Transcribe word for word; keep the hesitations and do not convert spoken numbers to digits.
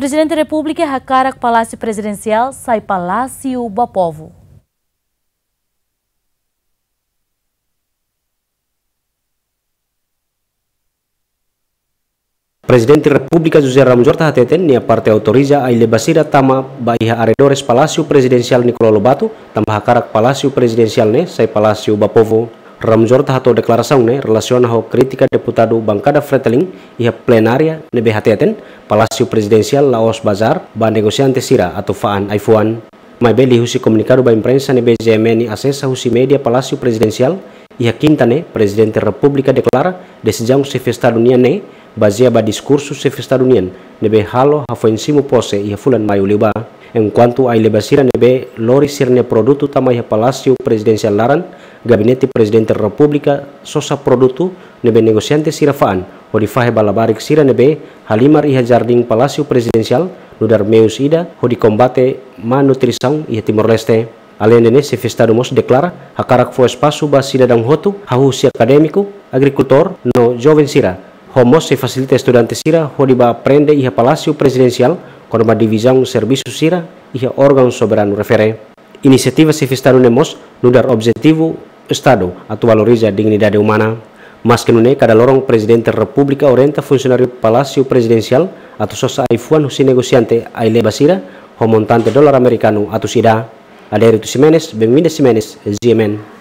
Prezidente Repúblika hakarak Palásiu Prezidensiál sai Palásiu ba Povu. Prezidente Repúblika José Ramos Horta hateten nia parte autoriza ai-leba sira tama ba iha arredores Palásiu Prezidensiál Nicolau Lobato, tanba hakarak Palásiu Prezidensiál ne'e sai Palásiu ba Povu. Ramos Horta hato'o deklarasaun ne'e relasiona ho krítika deputadu bankada Fretilin iha plenária ne'ebé hateten Palásiu Prezidensiál la'ós bazár ba negosiante sira atu fa'an ai-fuan. Maibé liuhusi komunikadu ba imprensa ne'ebé G M N asesa husi média Palásiu Prezidensiál, iha kinta ne'e Prezidente Repúblika deklara desizaun Xefe Estadu nian ne'e bazeia ba diskursu Xefe Estadu nian ne'ebé halo hafoin simu pose iha fulan Maiu liubá. Enkuantu ai-leba sira ne'ebé lori sira-nia produtu tama iha Palásiu Prezidensiál laran, Gabinete Prezidente Repúblika sosa produtu ne'ebé negosiante sira fa'an hodi fahe ba labarik sira ne'ebé halimar iha jardín Palásiu Prezidensiál, nu'udar meius ida hodi kombate má nutrisaun iha Timor-Leste. Aleinde ne'e, Xefe Estadu mós deklara hakarak fó espasu ba sidadaun hotu, hahú husi akadémiku, agrikultór no joven sira, ho mós sei fasilita estudante sira hodi bá aprende iha Palásiu Prezidensiál kona-ba divizaun servisu sira iha órgaun soberanu refere. Inisiativa Xefe Estadu ne'e mós nu'udar objetivu Estadu atu valoriza dignidade umana. Maske nune'e, kada loron Prezidente Repúblika orienta funsionáriu Palásiu Prezidensiál atu sosa ai-fuan husi negosiante ai-leba sira ho montante dolar amerikanu atus ida. Adérito Ximenes, Benvinda Ximenes, G M N.